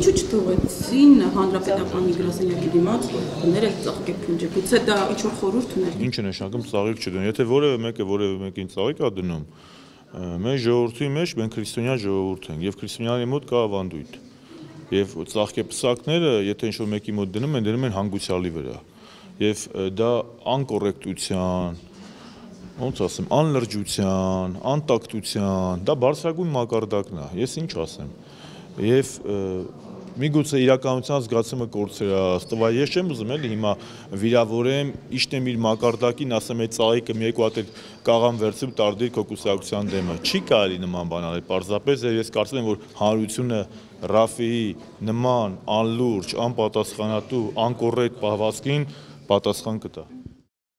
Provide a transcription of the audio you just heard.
ինչու չթողեցին հանրապետականի գրասենյակի դիմաց դնել ծաղկե փունջը, գուցե դա ինչ-որ խորհուրդ ուներ։ Ինչ է նշանակում ծաղիկ չդնում, եթե որևէ մեկին ծաղիկ է դնում, մեր ժողովրդի մեջ մենք քրիստոնյա ժողովուրդ ենք եւ քրիստոնյաների մոտ կա ավանդույթ եւ ծաղկեպսակները եթե ինչ-որ մեկի մոտ դնում են հանգուցյալի վրա եւ դա անկոռեկտության, ոնց ասեմ, անլրջության, անտակտության, դա բարձրագույն մակարդակն է, ես ինչ ասեմ, եւ միգուցե իրականության զգացումը կորցրած, տվա ես չեմ ուզում էլի հիմա վիրավորեմ, իշտեմ իր մակարդակին, ասեմ այդ ծաղիկը մի երկու հատ կաղամ վերցրու տարդիր քո կուսակցության դեմը, չի կարելի նման բան անել, պարզապես ես կարծում եմ, որ հանրությունը Ռաֆիի նման անլուրջ, անպատասխանատու, անկոռեկտ պահվածքին պատասխան կտա։